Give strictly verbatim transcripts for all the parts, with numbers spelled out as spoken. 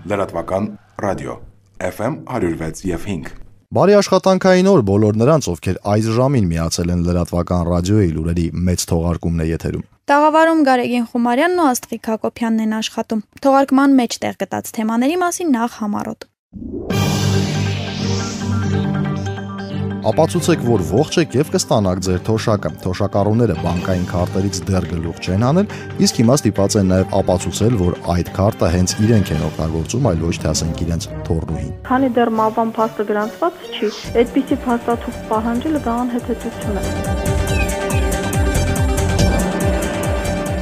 Լրատվական ռադիո Էֆ Էմ one oh six եւ five Բարի աշխատանքային օր բոլոր նրանց, ովքեր այս ժամին միացել են լրատվական ռադիոյի լուրերի մեծ թողարկումն է եթերում։ Տաղավարում Գարեգին Խումարյանն ու Աստղիկ Հակոբյանն են աշխատում։ Թողարկման մեջ տեղ գտած թեմաների մասին նախ համառոտ։ Ապացուցեք, որ ողջ եք եւ կստանաք ձեր թոշակը։ Թոշակառուները բանկային քարտերից դեռ գլուխ չեն հանել, իսկ հիմա ստիպված են նաեւ ապացուցել, որ այդ քարտը հենց իրենք են օգտագործում, այլ ոչ թե ասենք իրենց թորնուհին։ Քանի դեռ մավան փաստը գրանցված չի, այդպիսի փաստաթուղթ պահանջելը դա անհեթեթություն է։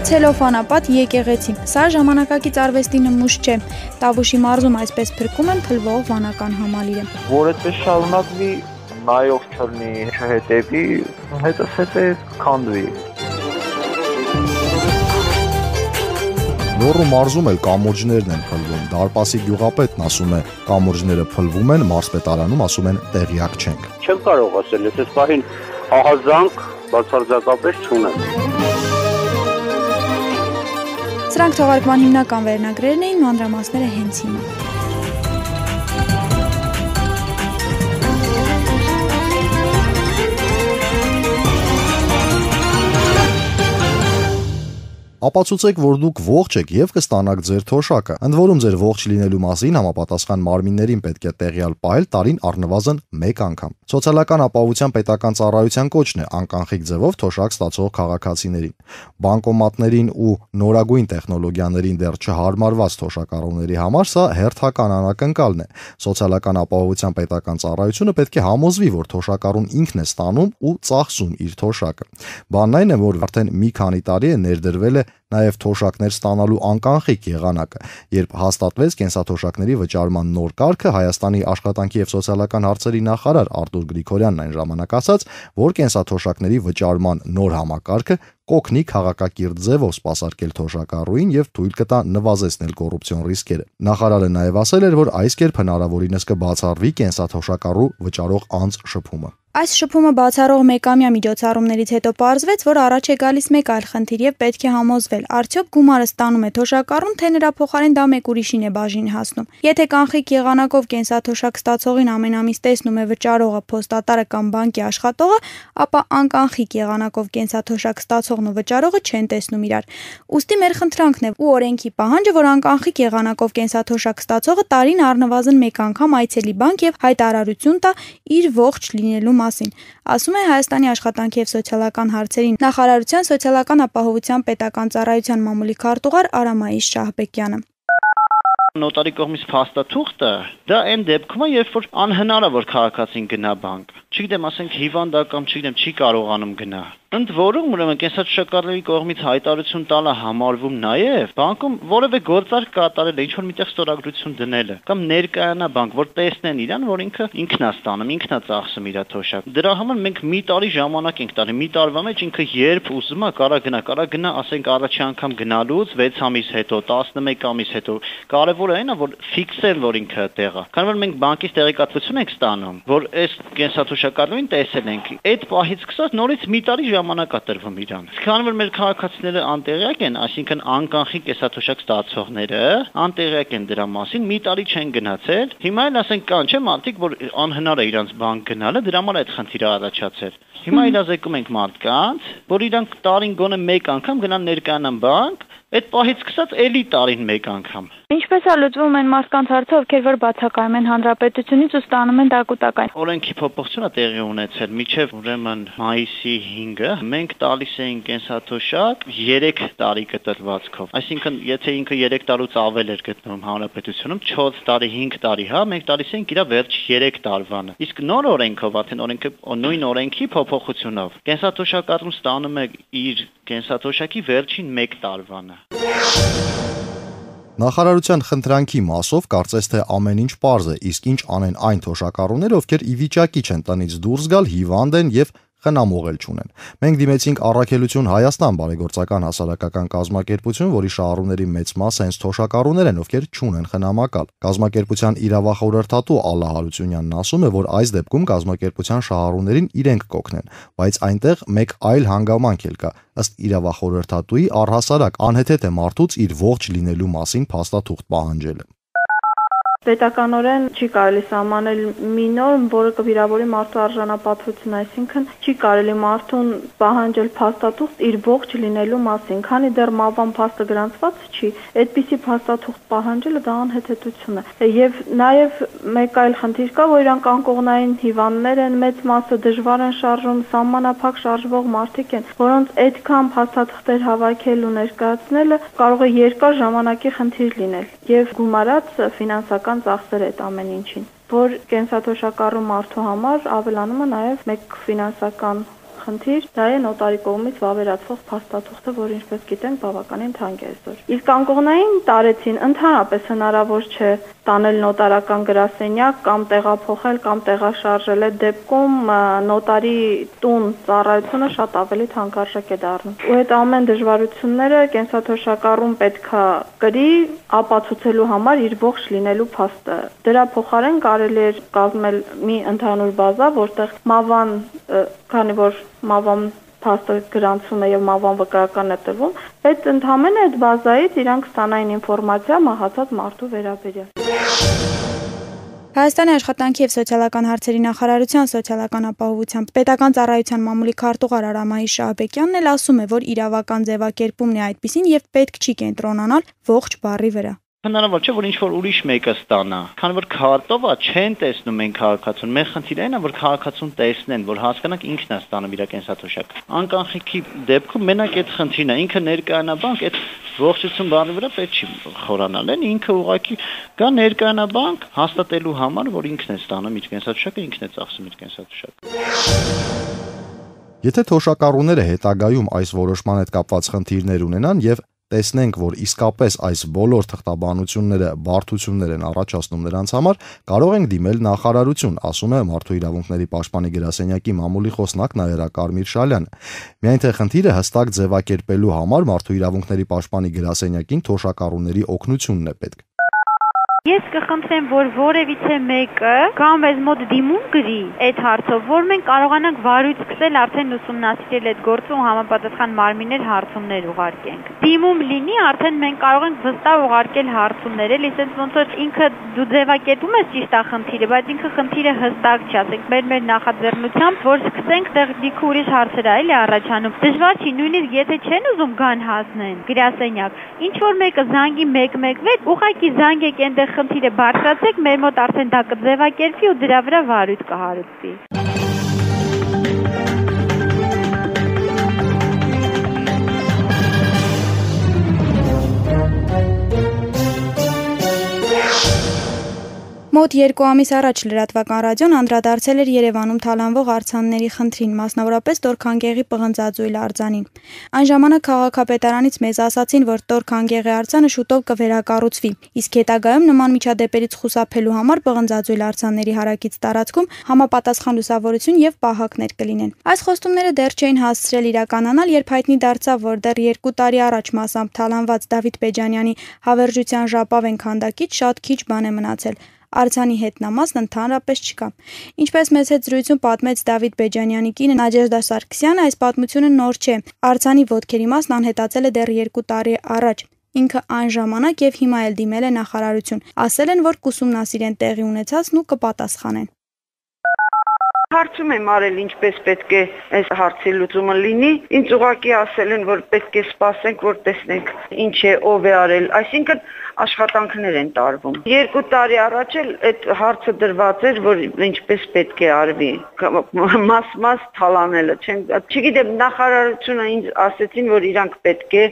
Ցելոֆանապատ եկեղեցի։ Սա ժամանակակից արվեստի նմուշ չէ։ Տավուշի մարզում այսպես փրկում են փլվող վանական համալիրը։ Որ այդպես շարունակվի, նայող չլինի, չհետևի, հետս հետե քանդվի։ Լոռու մարզում էլ կամուրջներն են փլվում։ Դարպասի գյուղապետն ասում է, կամուրջները փլվում են, մարզպետարանում ասում են տեղյակ չենք։ Չեմ կարող ասել, ես այս պահին ահազանգ բացարձակապես չունեմ։ Սրանք թողարկման հիմնական վերնագրերն էին, մանրամասները հենց հիմա։ Ապացուցեք, որ դուք ողջ եք եւ կստանաք ձեր թոշակը։ Ընդ որում ձեր ողջ լինելու մասին համապատասխան մարմիններին պետք է տեղյալ պահել տարին առնվազն մեկ անգամ։ Սոցիալական ապահովության պետական ծառայության կոչն է անկանխիկ ձևով թոշակ ստացող քաղաքացիներին։ Բանկոմատներին ու նորագույն տեխնոլոգիաներին դեռ չհարմարված թոշակառուների համար սա հերթական անակնկալն է։ Սոցիալական ապահովության պետական ծառայությունը պետք է համոզվի, որ թոշակառուն ինքն է ստանում ու ծախսում իր թոշակը։ Բանն այն է, որ արդեն մի քանի տարի է ներդրվել է նաև թոշակներ ստանալու անկանխիկ եղանակը, երբ հաստատվեց կենսաթոշակների վճարման նոր կարգը, Հայաստանի աշխատանքի եւ սոցիալական հարցերի նախարար Արտուր Գրիգորյանն այն ժամանակ ասաց, որ կենսաթոշակների վճարման նոր համակարգը կօգնի քաղաքակիրթ ձևով սպասարկել թոշակառուին եւ թույլ կտա նվազեցնել կոռուպցիոն ռիսկերը։ Նախարարը նաև ասել էր, որ այս կերպ հնարավորինս կբացառվի կենսաթոշակառու վճարող անձ շփումը։ Այս շփումը բացառող մեկամյա միջոցառումներից հետո պարզվեց, որ առաջ է գալիս մեկ այլ խնդիր եւ պետք է համոզվել, արդյոք գումարը ստանում է թոշակառուն, թե նրա փոխարեն դա մեկ ուրիշին է բաժին հասնում։ Եթե կանխիկ եղանակով կենսաթոշակ ստացողին ամեն ամիս տեսնում է վճարողը, փոստատարը կամ բանկի աշխատողը, ապա անկանխիկ եղանակով կենսաթոշակ ստացողն ու վճարողը չեն տեսնում իրար։ Ուստի մեր խնդրանքն է ու օրենքի պահանջը, որ անկանխիկ եղանակով կենսաթոշակ ստացողը տարին առնվազն մեկ անգամ այցելի բանկ եւ հայտարարություն տա իր ողջ լինելու մասին, ասում է Հայաստանի աշխատանքի եւ սոցիալական հարցերի նախարարության սոցիալական ապահովության պետական ծառայության մամուլի քարտուղար Արամայիս Շահբեկյանը։ Նոտարի կողմից փաստաթուղթը դա այն դեպքում է, երբ որ անհնար է որ քաղաքացին գնա բանկ։ Չգիտեմ, ասենք հիվանդ է կամ չգիտեմ, չի կարողանում գնա։ Ընդ որում, ուրեմն կենսաթոշակառուի կողմից հայտարարություն տալը համարվում նաև բանկում որևէ գործարք կատարել է, ինչ որ միտեղ ստորագրություն դնել է կամ ներկայանա բանկ, որ տեսնեն իրան, որ ինքը ինքն է ստանում, ինքն է ծախսում իր թոշակը։ Դրա համար մենք մի տարի ժամանակ ենք տալի, մի տարվա մեջ ինքը երբ ուզում է կարա գնա, կարա գնա, ասենք առաջի անգամ գնալուց վեց ամիս հետո, տասնմեկ ամիս հետո։ Կարևորը այն է, որ ֆիքսել, որ ինքը տեղ է։ Քանի որ մենք բանկից տեղեկատվություն ենք ստանում, որ այս կենսաթոշակառուին տեսել ենք, այդ պահից սկսած նորից մի տարի ժամանակ է տրվում իրան։ Քանի որ մեր քաղաքացիները անտեղյակ են, այսինքն անկանխիկ կենսաթոշակ ստացողները անտեղյակ են դրա մասին, մի տարի չեն գնացել։ Հիմա էլ ասենք կան, չէ՞, մարդիկ, որ անհնար է իրանց բանկ գնալը, դրա համար այդ խնդիրը առաջացել։ Հիմա իրազեկում ենք մարդկանց, որ իրանք տարին գոնե մեկ անգամ գնան ներկայանան բանկ, այդ պահից սկսած էլի տարին մեկ անգամ։ Ինչպես է լուծվում այն մարդկանց հարցը, ովքեր որ բացակայում են հանրապետությունից ու ստանում են տակուտակային։ Օրենքի փոփոխությունը տեղի ունեցել միջև ուրեմն մայիսի հինգը մենք տալիս էինք կենսաթոշակ երեք տարի կտրվածքով։ Այսինքն, եթե ինքը երեք տարուց ավել էր գտնվում հանրապետությունում, չորս տարի, հինգ տարի, հա, մենք տալիս էինք իր վերջ երեք տարվանը։ Իսկ նոր օրենքով, արդեն օրենքը նույն օրենքի փոփոխությունով կենսաթոշակառուն ստանում է իր կենսաթոշակի վերջին մեկ տարվանը։ Նախարարության խնդրանքի մասով կարծես թե ամեն ինչ պարզ է, իսկ ինչ անեն այն թոշակառուները, ովքեր ի վիճակի չեն տնից դուրս գալ, հիվանդ են եւ խնամող էլ չունեն։ Մենք դիմեցինք Առաքելություն Հայաստան բարեգործական հասարակական կազմակերպություն, որի շահառուների մեծ մասը հենց թոշակառուներ են, ովքեր չունեն խնամակալ։ Կազմակերպության իրավախորհրդատու Ալլա Հարությունյանն ասում է, որ այս դեպքում կազմակերպության շահառուներին իրենք կօգնեն, բայց այնտեղ մեկ այլ հանգամանք էլ կա։ Ըստ իրավախորհրդատուի առհասարակ անհեթեթ է մարդուց իր ողջ լինելու մասին փաստաթուղթ պահանջելը։ Պետականորեն չի կարելի սահմանել մի նորմ, որը կվիրավորի մարդու արժանապատվությունը, այսինքն չի կարելի մարդուն պահանջել փաստաթուղթ իր ողջ լինելու մասին, քանի դեռ մահվան փաստը գրանցված չի, այդպիսի փաստաթուղթ պահանջելը դա անհեթեթություն է։ Եվ նաև մեկ այլ խնդիր կա, որ իրանք անկողնային հիվանդներ են, մեծ մասը դժվար են շարժում, սահմանափակ շարժվող մարդիկ են, որոնց այդքան փաստաթղթեր հավաքել ու ներկայացնելը կարող է երկար ժամանակի խնդիր լինել եւ գումարած ֆինանսական ծախսեր այդ ամեն ինչին, որ կենսաթոշակառու մարդու համար ավելանում է նաև մեկ ֆինանսական խնդիր, դա է նոտարի կողմից վավերացվող փաստաթուղթը, որ ինչպես գիտենք բավականին թանկ է այսօր։ Իսկ անկողնային տարեցին ընդհանրապես հնարավոր չէ տանել նոտարական գրասենյակ կամ տեղափոխել կամ տեղաշարժել, այդ դեպքում նոտարի տուն ծառայությունը շատ ավելի թանկարժեք է դառնում։ Ու այդ ամեն դժվարությունները կենսաթոշակառուն պետքա կրի ապացուցելու համար իր ողջ լինելու փաստը։ Դրա փոխարեն կարելի է կազմել մի ընդհանուր բազա, որտեղ մահվան, քանի որ մահվան փաստը գրանցվում է եւ մահվան վկայականն է տրվում, այդ ընդհանրապես այդ բազայից իրանք ստանային ինֆորմացիա մահացած մարդու վերաբերյալ։ Հայաստանի աշխատանքի եւ սոցիալական հարցերի նախարարության սոցիալական ապահովության պետական ծառայության մամուլի քարտուղար Արամայի Շահբեկյանն էլ ասում է, որ իրավական ձևակերպումն է այդպիսին եւ պետք չի կենտրոնանալ ողջ բառի վրա։ Հնարավոր չէ, որ ինչ-որ ուրիշ մեկը ստանա, քանի որ քարտովա չեն տեսնում են քաղաքացուն։ Մեր խնդիրը այն է, որ քաղաքացուն տեսնեն, որ հասկանանք ինքն է ստանում իր կենսաթոշակը։ Անկանխիկի դեպքում մենակ այդ խնդիրն է, ինքը ներկայանա բանկ, այդ ողջություն բառի վրա պետք չի խորանալ, են ինքը ուղղակի գա ներկայանա բանկ հաստատելու համար, որ ինքն է ստանում իր կենսաթոշակը, ինքն է ծախսում իր կենսաթոշակը։ Եթե թոշակառուները հետագայում այս որոշման հետ կապված խնդիրներ ունենան եւ տեսնենք, որ իսկապես այս բոլոր թղթաբանությունները բարդություններ են առաջացնում նրանց համար, կարող ենք դիմել նախարարություն, ասում է Մարդու իրավունքների պաշտպանի գրասենյակի մամուլի խոսնակ Նաիրա Կարմիր Շալյանը։ Միայն թե խնդիրը հստակ ձևակերպելու համար Մարդու իրավունքների պաշտպանի գրասենյակին թոշակառուների օգնությունն է պետք։ Ես կխնդրեմ, որ որևիցե մեկը կամ մեզ մոտ դիմում գրի այդ հարցով, որ մենք կարողանանք վարույց սկսել արդեն ուսումնասիրել այդ գործը ու համապատասխան մարմիններ հարցումներ ուղարկենք։ Դիմում լինի, արդեն մենք կարող ենք վստահ ուղարկել հարցումներ, էլի ասենց ոնց որ ինքը դու ձևակերպում ես ճիշտ է խնդիրը, բայց ինքը խնդիրը հստակ չի, ասենք մեր մեր նախաձեռնությամբ, որ սկսենք տեղ դիքը ուրիշ հարցեր այլ է առաջանում։ Դժվար չի, նույնիսկ եթե չեն ուզում գան հասնեն գրասենյակ, ինչ որ մեկը զանգի մեկ մեկ վեց, ուղղակի զանգեք այնտեղ խնդիրը բարձրացեք, մեր մոտ արդեն դա կձևակերպվի ու դրա վրա վարույթ կհարուցվի։ Մոտ երկու ամիս առաջ լրատվական ռադիոն անդրադարձել էր Երևանում թալանվող արձանների խնդրին, մասնավորապես Տոր-Քանգեղի պղնձաձույլ արձանին։ Այն ժամանակ քաղաքապետարանից մեզ ասացին, որ Տոր-Քանգեղի արձանը շուտով կվերակառուցվի, իսկ հետագայում նման միջադեպերից խուսափելու համար պղնձաձույլ արձանների հարակից տարածքում համապատասխան լուսավորություն եւ պահակներ կլինեն։ Այս խոստումները դեռ չէին հասցրել իրականանալ, երբ հայտնի դարձավ, որ դեռ երկու տարի առաջ մասամբ թալանված Դավիթ Բեջանյանի հավերժության ժապավեն քանդակից շատ քիչ բան է մնացել։ Արձանի հետնամասն ընդհանրապես չկա։ Ինչպես մեզ հետ զրույցում պատմեց Դավիթ Բեջանյանի կինը Նաջեժդա Սարգսյանը, այս պատմությունը նոր չէ։ Արձանի ոտքերի մասն անհետացել է դեռ երկու տարի առաջ։ Ինքը այն ժամանակ եւ հիմա էլ դիմել է նախարարություն։ Ասել են, որ կուսումնասիրեն տեղի ունեցածն ու կպատասխանեն։ Հարցում եմ արել ինչպես պետք է այս հարցի լուծումը լինի, ինձ ուղղակի ասել են, որ պետք է սպասենք, որ տեսնենք ինչ է, ով է արել, այսինքն աշխատանքներ են տարվում։ Երկու տարի առաջ էլ այդ հարցը դրված էր, որ ինչպես պետք է արվի, մաս-մաս թալանելը, չգիտեմ, նախարարությունը ինձ ասեցին, որ իրանք պետք է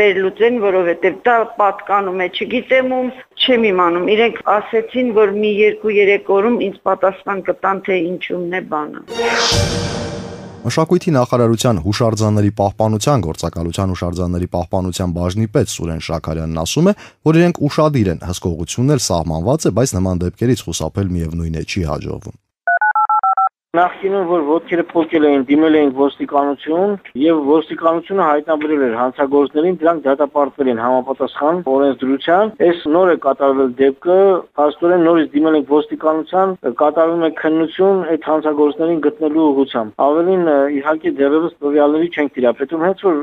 վերլուծեն, որովհետև դա պատկանում է, չգիտեմ ում, չեմ իմանում, իրենք ասեցին, որ մի երկու-երեք օրում ինձ պատասխան կտան, թե ինչումն է բանը։ Մշակույթի նախարարության հուշարձանների պահպանության գործակալության հուշարձանների պահպանության բաժնի պետ Սուրեն Շաքարյանն ասում է, որ իրենք ուշադիր են, հսկողությունն էլ սահմանված է, բայց նման դեպքերից խուսափել միևնույն է չի հաջողվում։ Նախկինում որ ոտքերը փոկել էին, դիմել էին ոստիկանություն եւ ոստիկանությունը հայտնաբերել էր հանցագործներին, դրանք դատապարտվել են համապատասխան օրենսդրության։ Այս նոր է կատարվել դեպքը, փաստորեն նորից դիմել ենք ոստիկանության, կատարվում է քննություն այդ հանցագործներին գտնելու ուղղությամբ։ Ավելին իհարկե դեռևս տվյալների չենք տիրապետում, հենց որ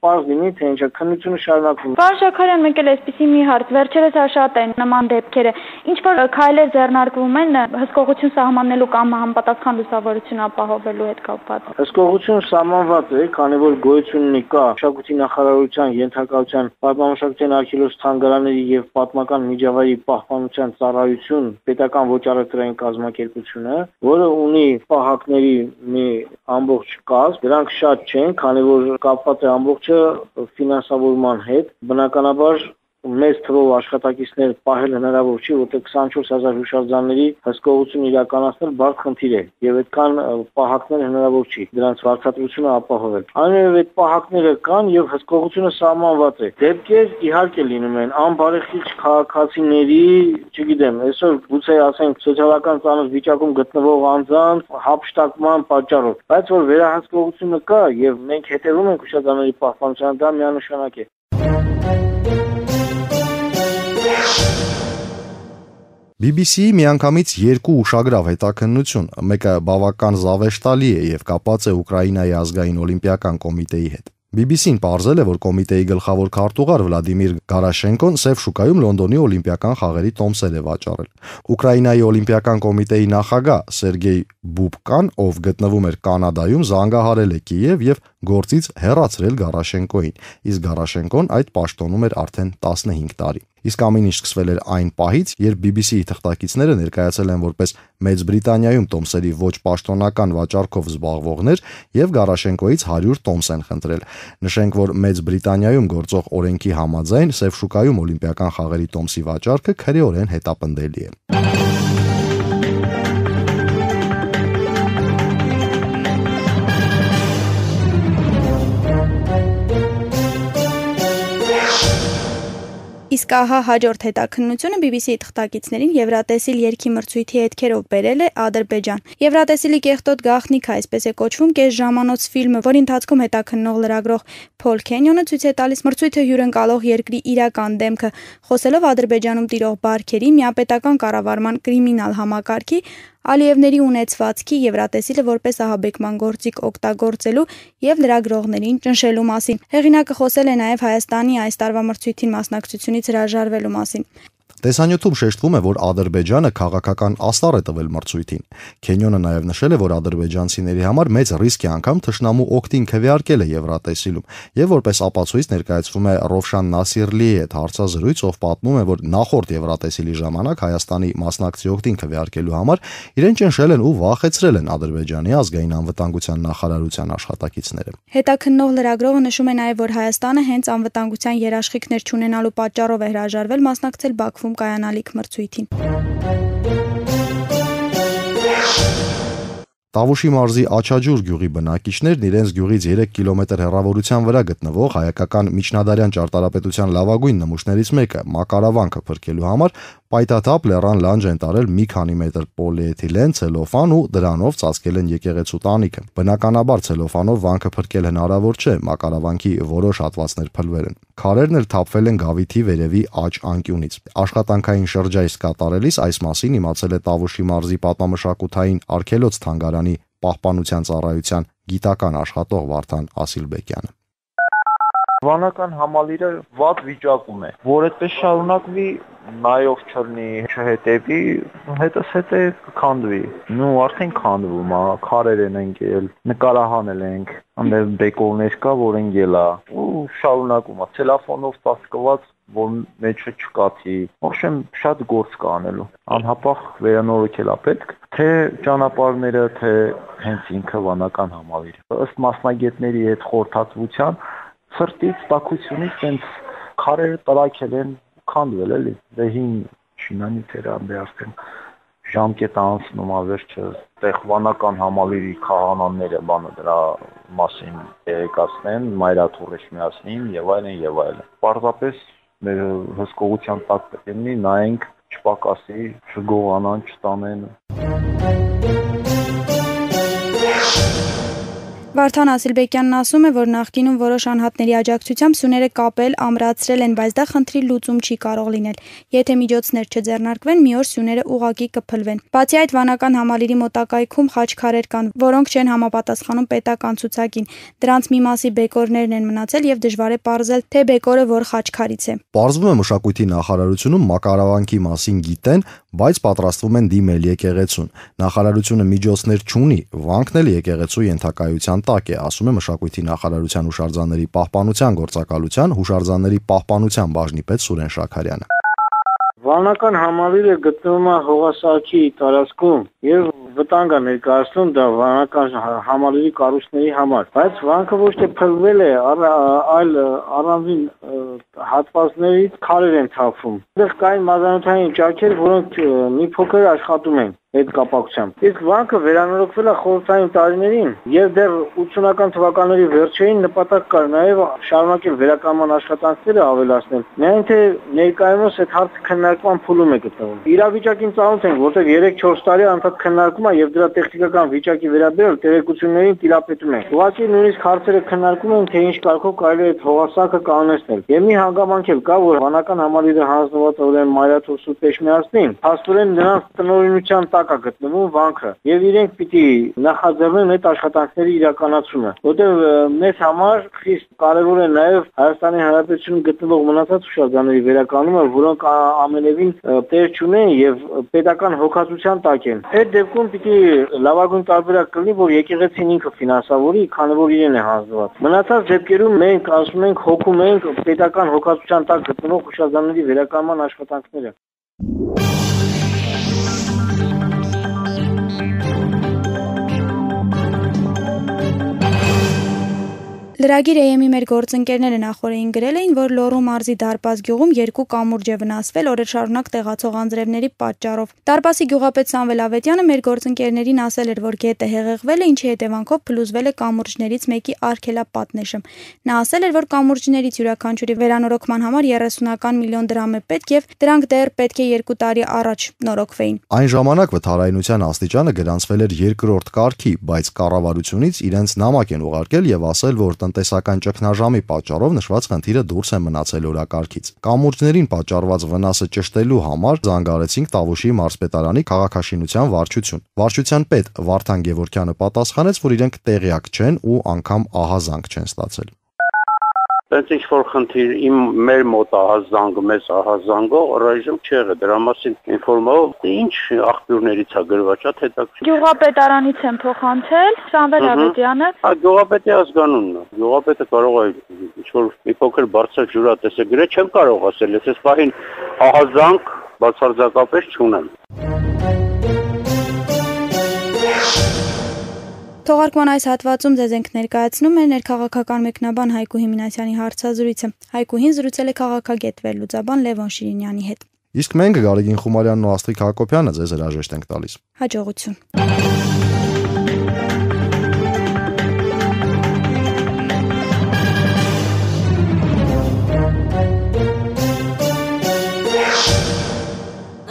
պարզ լինի թե ինչա քննությունը շարունակվում։ Պարոն Շաքարյան, մեկ էլ այսպեսի մի հարց, վերջերս շատ են նման դեպքերը։ Ինչ որ քայլեր ձեռնարկվում են հսկողություն սահմանելու կամ համապատասխան լուսավորություն ապահովելու հետ կապված։ Հսկողություն սահմանված է, քանի որ գոյություն ունի կա մշակույթի նախարարության ենթակայության պատմամշակութային արգելոց թանգարանների եւ պատմական միջավայրի պահպանության ծառայություն պետական ոչ առևտրային կազմակերպությունը, որը ունի պահակների մի ամբողջ կազմ, դրանք շատ չեն, քանի որ կապված է ամբողջը ֆինանսավորման հետ, բնականաբար մեծ թվով աշխատակիցներ պահել հնարավոր չի, որտեղ քսանչորս հազար հուշարձանների հսկողություն իրականացնել բարդ խնդիր է եւ այդքան պահակներ հնարավոր չի դրանց վարձատրությունը ապահովել։ Այնուհետեւ այդ պահակները կան եւ հսկողությունը սահմանված է։ Դեպքեր իհարկե լինում են անբարեխիղճ քաղաքացիների, չգիտեմ, այսօր գուցե ասենք սոցիալական ծանր վիճակում գտնվող անձանց հափշտակման պատճառով, բայց որ վերահսկողությունը կա եւ մենք հետեւում ենք հուշարձանների պահպանությանը, դա միանշանակ է։ բի բի սի-ի միանգամից երկու ուշագրավ հետաքննություն, մեկը բավական զավեշտալի է եւ կապված է Ուկրաինայի ազգային օլիմպիական կոմիտեի հետ։ բի բի սի-ն պարզել է, որ կոմիտեի գլխավոր քարտուղար Վլադիմիր Գարաշենկոն Սև շուկայում Լոնդոնի օլիմպիական խաղերի տոմսեր է վաճառել։ Ուկրաինայի օլիմպիական կոմիտեի նախագահ Սերգեյ Բուբկան, ով գտնվում էր Կանադայում, զանգահարել է Կիև եւ գործից հեռացրել Գարաշենկոին, իսկ Գարաշենկոն այդ պաշտոնում էր արդեն տասնհինգ տարի։ Իսկ ամեն ինչ սկսվել էր այն պահից, երբ բի բի սի-ի թղթակիցները ներկայացել են որպես Մեծ Բրիտանիայում տոմսերի ոչ պաշտոնական վաճառքով զբաղվողներ եւ Գարաշենկոից հարյուր տոմս են խնդրել։ Նշենք, որ Մեծ Բրիտանիայում գործող օրենքի համաձայն Սև շուկայում օլիմպիական խաղերի տոմսի վաճառքը քրեորեն հետապնդելի է։ Իսկ ահա հաջորդ հետաքննությունը բի բի սի-ի թղթակիցներին Եվրատեսիլ երգի մրցույթի հետքերով բերել է Ադրբեջան։ Եվրատեսիլի կեղտոտ գաղտնիքը, այսպես է կոչվում, կես ժամանոց ֆիլմը, որի ընթացքում հետաքննող լրագրող Փոլ Քենյոնը ցույց է տալիս մրցույթը հյուրընկալող երկրի իրական դեմքը, խոսելով Ադրբեջանում տիրող բարքերի, միապետական կառավարման կրիմինալ համակարգի, Ալիևների ունեցվածքի, Եվրատեսիլը որպես ահաբեկման գործիք օգտագործելու եւ լրագրողներին ճնշելու մասին։ Հեղինակը խոսել է նաեւ Հայաստանի այս տարվա մրցույթին մասնակցությունից հրաժարվելու մասին։ Տեսանյութում շեշտվում է, որ Ադրբեջանը քաղաքական աստառ է տվել մրցույթին։ Քենյոնը նաև նշել է, որ ադրբեջանցիների համար մեծ ռիսկ է անգամ թշնամու օգտին քվեարկել է Եվրատեսիլում, եւ որպես ապացույց ներկայացվում է Ռովշան Նասիրլիի հետ հարցազրույց, ով պատմում է, որ նախորդ Եվրատեսիլի ժամանակ Հայաստանի մասնակցի օգտին քվեարկելու համար իրեն ճնշել են ու վախեցրել են Ադրբեջանի ազգային անվտանգության նախարարության աշխատակիցները։ Հետաքննող լրագրողը նշում է նաև, որ Հայաստանը հենց անվտանգության երաշխիքներ չունենալու պատճառով է հրաժարվել մասնակցել Բաքվում կայանալիք մրցույթին։ Տավուշի մարզի Աչաջուր գյուղի բնակիչներն իրենց գյուղից երեք կիլոմետր հեռավորության վրա գտնվող հայկական միջնադարյան ճարտարապետության լավագույն նմուշներից մեկը մակարավանքը փրկելու համար պայթաթափ լեռան լանջ են տարել մի քանի մետր պոլիէթիլեն, ցելոֆան ու դրանով ծածկել են եկեղեցու տանիքը։ Բնականաբար ցելոֆանով վանքը փրկել հնարավոր չէ, մակարավանքի որոշ հատվածներ փլվել են։ Քարերն էլ թափվել են գավիթի վերևի աջ անկյունից։ Աշխատանքային շրջայց կատարելիս այս մասին իմացել է Տավուշի մարզի պատմամշակութային արգելոց թանգարանի պահպանության ծառայության գիտական աշխատող Վարդան Ասիլբեկյանը։ Վանական համալիրը վատ վիճակում է, որ այդպես շարունակվի, նայող չլինի, չհետևի, հետս հետե կքանդվի։ Նու արդեն քանդվում է, քարեր են ընկել, նկարահանել ենք, այնտեղ բեկորներ կա, որ ընկել է, ու շարունակում է, ցելոֆանով ծածկված, որ մեջը չկաթի։ Ողջույն շատ գործ կա անելու։ Անհապաղ վերանորոգել է պետք, թե ճանապարհները, թե հենց ինքը վանական համալիրը։ Ըստ մասնագետների հետ խորհրդատվության սրտից տաքությունից տենց քարերը տրակել են քանդվել էլի դե հին շինանի թերամբե արդեն ժամկետ անցնում է վերջը տեղ վանական համալիրի քահանաները բանը դրա մասին տեղեկացնեն մայրաթուռ շմիացնին եւ այլն եւ այլն պարզապես մեր հսկողության տակ պետք է լինի նայենք չպակասի չգողանան չտանեն Վարդան Ասիլբեկյանն ասում է, որ նախկինում որոշ անհատների աջակցությամբ սյուները կապել, ամրացրել են, բայց դա խնդրի լուծում չի կարող լինել։ Եթե միջոցներ չձեռնարկվեն, մի օր սյուները ուղղակի կփլվեն։ Բացի այդ, Վանական համալիրի մոտակայքում խաչքարեր կան, որոնք չեն համապատասխանում պետական ցուցակին։ Դրանց մի մասի բեկորներն են մնացել եւ դժվար է պարզել, թե բեկորը որ խաչքարից է։ Պարզվում է մշակույթի նախարարությունում մակարավանքի մասին գիտեն, բայց պատրաստվում են դիմել եկեղեցուն։ Նախարարությունը միջոցներ չունի, վանքն էլ եկեղեցու ենթակայության տակ է, ասում է մշակույթի նախարարության հուշարձանների պահպանության գործակալության հուշարձանների պահպանության բաժնի պետ Սուրեն Շաքարյանը։ Վանական համալիրը գտնվում է հողասահքի տարածքում եւ վտանգ է ներկայացնում դա վանական համալիրի կառույցների համար, բայց վանքը ոչ թե փլվել է, այլ առանձին հատվածներից քարեր են թափվում։ Այդտեղ կային մազանոթային ճաքեր, որոնք մի փոքր աշխատում են այդ կապակցությամբ։ Իսկ վանքը վերանորոգվել է խորհրդային տարիներին եւ դեռ ութսունական թվականների վերջերին նպատակ կար նաեւ շարունակել վերականգնման աշխատանքները ավելացնել։ Միայն թե ներկայումս այդ հարցը քննարկման փուլում է գտնվում։ Իրավիճակին ծանոթ ենք, որտեղ երեք-չորս տարի անդադ քննարկում է եւ դրա տեխնիկական վիճակի վերաբերյալ տեղեկություններին տիրապետում են։ Ուղղակի նույնիսկ հարցերը քննարկում են, թե ինչ կարգով կարելի է այդ հողասահքը կանոնել։ Եվ մի հանգամանք էլ կա, որ Վանական համալիրը հանձնված ուրեմն Մայրաթոր Սուրբ Էջմիածնին, փաստորեն նրանց տնօրինության տակ է գտնվում վանքը եւ իրենք պիտի նախաձեռնեն այդ աշխատանքների իրականացումը, որտեղ մեզ համար խիստ կարեւոր է նաեւ Հայաստանի Հանրապետությունում գտնվող մնացած հուշարձանների վերականգնումը, որոնք ամենևին տեղ չունեն եւ պետական հոգացության տակ են։ Այդ դեպքում պիտի լավագույն տարբերակ կլինի, որ եկեղեցին ինքը ֆինանսավորի, քանի որ իրեն է հանձնված։ Մնացած դեպքերում մենք ասում ենք հոգում ենք պետական հոգացության տակ գտնվող հուշարձանների վերականգնման աշխատանքները։ Լրագիր Էյ Էմ-ի մեր գործընկերները նախորդին գրել էին, որ Լոռու մարզի Դարպաս գյուղում երկու կամուրջ է վնասվել օրեր շարունակ տեղացող անձրևների պատճառով։ Դարպասի գյուղապետ Սամվել Ավետյանը մեր գործընկերներին ասել էր, որ գետը հեղեղվել է, ինչի հետևանքով փլուզվել է կամուրջներից մեկի արգելապատնեշը։ Նա ասել էր, որ կամուրջներից յուրաքանչյուրի վերանորոգման համար երեսունական միլիոն դրամ է պետք եւ դրանք դեռ պետք է երկու տարի առաջ նորոգվեին։ Այն ժամանակ վթարայնության աստիճանը գրանցվել էր երկրորդ կարգի, բայց կառավարությունից իրենց նամակ են ուղարկել եւ ասել, որ տնտեսական ճգնաժամի պատճառով նշված խնդիրը դուրս է մնացել օրակարգից։ Կամուրջներին պատճառված վնասը ճշտելու համար զանգարեցինք Տավուշի մարզպետարանի քաղաքաշինության վարչություն։ Վարչության պետ Վարդան Գևորգյանը պատասխանեց, որ իրենք տեղյակ չեն ու անգամ ահազանգ չեն ստացել։ Բայց ինչ որ խնդիր իմ մեր մոտ ահազանգը, մեզ ահազանգը առայժմ չեղը, դրա մասին ինֆորմով ինչ աղբյուրներից է գրված, շատ հետաքրքիր։ Գյուղապետարանից եմ փոխանցել, Սամվել Ավետյանը։ Հա, գյուղապետի ազգանունն է։ Գյուղապետը կարող է ինչ որ մի փոքր բարձր ջուրատես գրել, չեմ կարող ասել, ես այս պահին ահազանգ բացարձակապես չունեմ։ Թողարկման այս հատվածում ձեզ ենք ներկայացնում է ներքաղաքական մեկնաբան Հայկուհի Մինասյանի հարցազրույցը։ Հայկուհին զրուցել է քաղաքագետ վերլուծաբան Լևոն Շիրինյանի հետ։ Իսկ մենք Գարեգին Խումարյանն ու Աստղիկ Հակոբյանը ձեզ հրաժեշտ ենք տալիս։ Հաջողություն։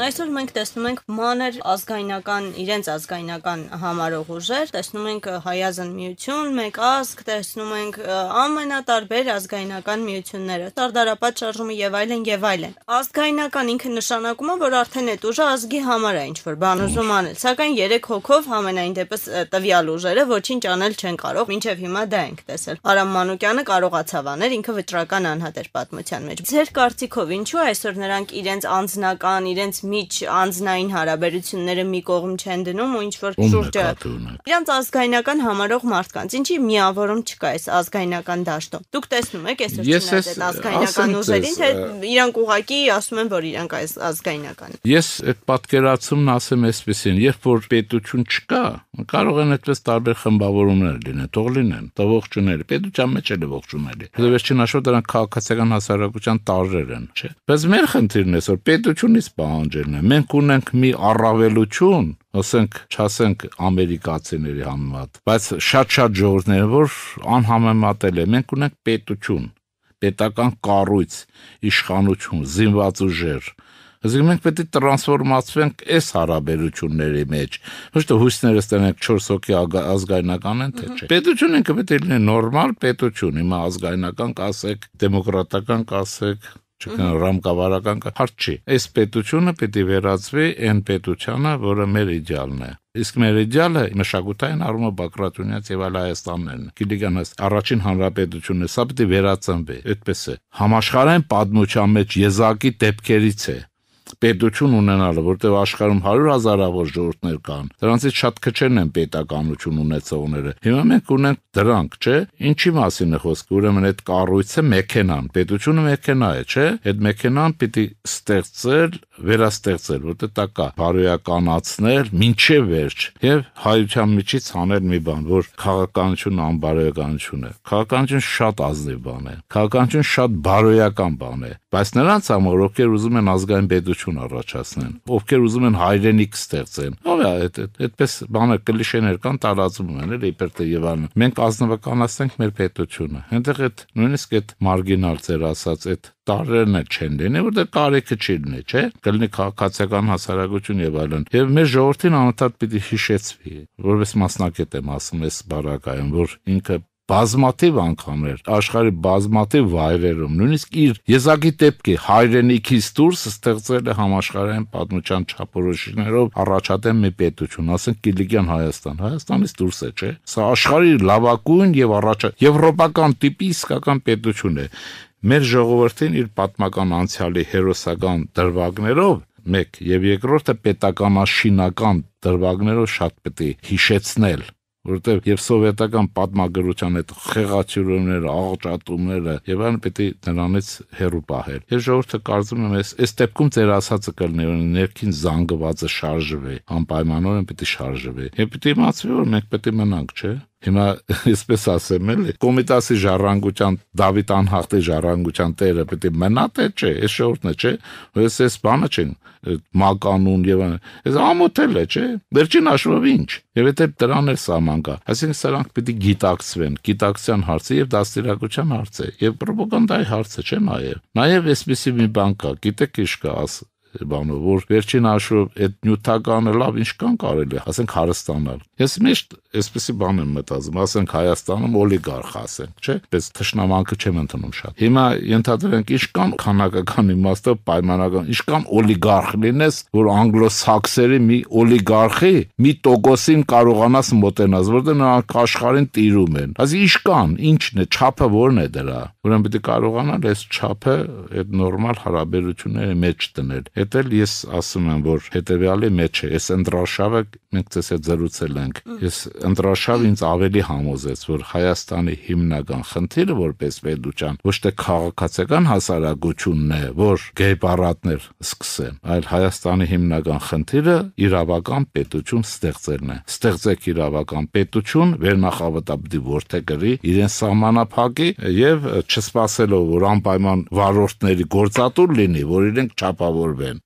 Այսօր մենք տեսնում ենք մանր ազգայնական, իրենց ազգայնական համարող ուժեր, տեսնում ենք Հայազն միություն, մեկ ազգ, տեսնում ենք ամենատարբեր ազգայնական միությունները, Սարդարապատ շարժումը եւ այլն եւ այլն։ Ազգայնական ինքը նշանակում է, որ արդեն այդ ուժը ազգի համար է ինչ-որ բան ուզում անել, սակայն երեք հոգով համենայն դեպս տվյալ ուժերը ոչինչ անել չեն կարող, մինչեւ հիմա դա ենք տեսել։ Արամ Մանուկյանը կարողացավ անել, ինքը վճռական անհատ էր պատմության մեջ։ Ձեր կարծիքով ինչու այսօր նրանք իրենց անձնական, իրենց միջ անձնային հարաբերությունները մի կողմ չեն դնում ու ինչ որ շուրջը իրանց ազգայնական համարող մարդկանց ինչի միավորում չկա այս ազգայնական դաշտում։ Դուք տեսնում եք այսօր չնայած այդ ազգայնական ուժերին, թե իրանք ուղակի ասում են, որ իրանք այս ազգայնական։ Ես այդ պատկերացումն ասեմ այսպեսին, երբ որ պետություն չկա, կարող են այդպես տարբեր խմբավորումներ լինեն, թող լինեն, դա ողջունել, պետության մեջ էլ է ողջունելի։ Դա վերջին հաշվով դրանք քաղաքացիական հասարակության տարրեր են, չէ՞։ Բայց մեր խնդիրն է, որ պետությունից պահանջելն է։ Մենք ունենք մի առավելություն, ասենք, չասենք ամերիկացիների համեմատ, բայց շատ-շատ ժողովուրդներ, որ անհամեմատել է։ Մենք ունենք պետություն, պետական կառույց, իշխանություն, զինված ուժեր, Այսինքն մենք պետք է տրանսֆորմացվենք այս հարաբերությունների մեջ։ Ոչ թե հույսները ստանանք չորս հոգի ազգայնական են, թե չէ։ Պետությունը ինքը պետք է լինի նորմալ պետություն, հիմա ազգայնական կասեք, դեմոկրատական կասեք, չկան ռամկավարական հարց չի։ Այս պետությունը պետք է վերածվի այն պետությանը, որը մեր իդեալն է։ Իսկ մեր իդեալը մշակութային առումով Բագրատունյանց եւ այլ Հայաստաններն է։ Գիտիգանս առաջին հանրապետությունն է, սա պետք է վերածնվի, այդպես է։ Համաշխարհային պատմության մեջ եզակի դեպքերից է պետություն ունենալը, որտեղ աշխարհում հարյուր հազարավոր ժողովուրդներ կան։ Դրանցից շատ քչերն են պետականություն ունեցողները։ Հիմա մենք ունենք դրանք, չէ՞։ Ինչի մասին է խոսքը։ Ուրեմն այդ կառույցը մեքենան, պետությունը մեքենա է, չէ՞։ Այդ մեքենան պիտի ստեղծել, վերաստեղծել, որտեղ դա կա, բարոյականացնել, մինչև վերջ եւ հայության միջից անել մի բան, որ քաղաքականությունն անբարոյականություն է։ Քաղաքականություն շատ ազնիվ բան է։ Քաղաքականություն շատ բարոյական բան է, բայց նրանց համար ովքեր ուզում են ազգային պետություն առաջացնեն, ովքեր ուզում են հայրենիք ստեղծեն։ Ո՞վ է այդ այդպես բանը կլիշեներ կան տարածում են, էլի իբր թե եւ այլն։ Մենք ազնվականացնենք մեր պետությունը։ Այնտեղ այդ նույնիսկ այդ մարգինալ ձեր ասած այդ տարերն էլ չեն լինի, որտեղ կարիքը չի լինի, չէ՞։ Կլինի քաղաքացիական հասարակություն եւ այլն։ Եվ մեր ժողովրդին անընդհատ պիտի հիշեցվի, որպես մասնակետ եմ ասում այս բարակայում, որ ինքը բազմաթիվ անգամներ աշխարհի բազմաթիվ վայրերում նույնիսկ իր եզակի դեպքի հայրենիքից դուրս ստեղծել է համաշխարհային պատմության չափորոշիչներով առաջադեմ մի պետություն, ասենք Կիլիկյան Հայաստան, Հայաստանից դուրս է, չէ՞։ Սա աշխարհի լավագույն եւ առաջ եվրոպական տիպի իսկական պետություն է։ Մեր ժողովրդին իր պատմական անցյալի հերոսական դրվագներով մեկ եւ երկրորդը պետականաշինական դրվագներով շատ պետք է հիշեցնել, որտեղ եւ սովետական պատմագրության այդ խեղաթյուրումները, աղճատումները եւ այլն պետք է նրանից հեռու պահել։ Ես ժողովուրդը կարծում եմ, այս դեպքում ձեր ասածը կլինի, որ ներքին զանգվածը շարժվի, անպայմանորեն պետք է շարժվի։ Եվ պետք է իմացվի, որ մենք պետք է մնանք, չէ՞։ Հիմա այսպես ասեմ, էլի Կոմիտասի ժառանգության Դավիթ անհախտի ժառանգության տերը պետք է մնա թե չէ, այս շորտն է, չէ։ Այս էս բանը չեն մականուն եւ այս ամոթել է, չէ։ Վերջին հաշվով ինչ։ Եվ եթե դրան էլ սահման կա, այսինքն սրանք պետք է գիտակցվեն, գիտակցության հարցը եւ դաստիարակության հարցը եւ ռոպագանդայի հարցը, չէ՞ նաեւ։ Նաեւ այսպեսի մի բան կա, գիտեք ինչ կա, աս բանով, որ վերջին հաշվով այդ նյութականը լավ ինչ կան կարելի, ասենք հարստանալ։ Ես միշտ այսպեսի բան եմ մտածում, ասենք Հայաստանում օլիգարխ ասենք, չէ՞, պես թշնամանքը չեմ ընդունում շատ։ Հիմա ենթադրենք ինչ կան քանակական իմաստով պայմանական, ինչ կան օլիգարխ լինես, որ անգլոսաքսերի մի օլիգարխի մի տոկոսին կարողանաս մոտենաս, որտեղ նրանք աշխարհին տիրում են։ Այսինքն ինչ կան, ինչն է, չափը որն է դրա։ Ուրեմն պետք է կարողանալ այս չափը այդ նորմալ հարաբերությունների մեջ դնել։ Դա էլ ես ասում եմ, որ հետեւյալի մեջ է, այս ընտրաշավը մենք ցես հետ զրուցել ենք։ Ես ընտրաշավը ինձ ավելի համոզեց, որ Հայաստանի հիմնական խնդիրը որպես պետության ոչ թե քաղաքացիական հասարակությունն է, որ գեյբարատներ սկսեն, այլ Հայաստանի հիմնական խնդիրը իրավական պետություն ստեղծելն է։ Ստեղծեք իրավական պետություն, վերնախավատապետի ворթեգրի իրեն սահմանափակի եւ չսպասելով, որ անպայման վարորդների գործատուր լինի, որ իրենք չափավորվեն։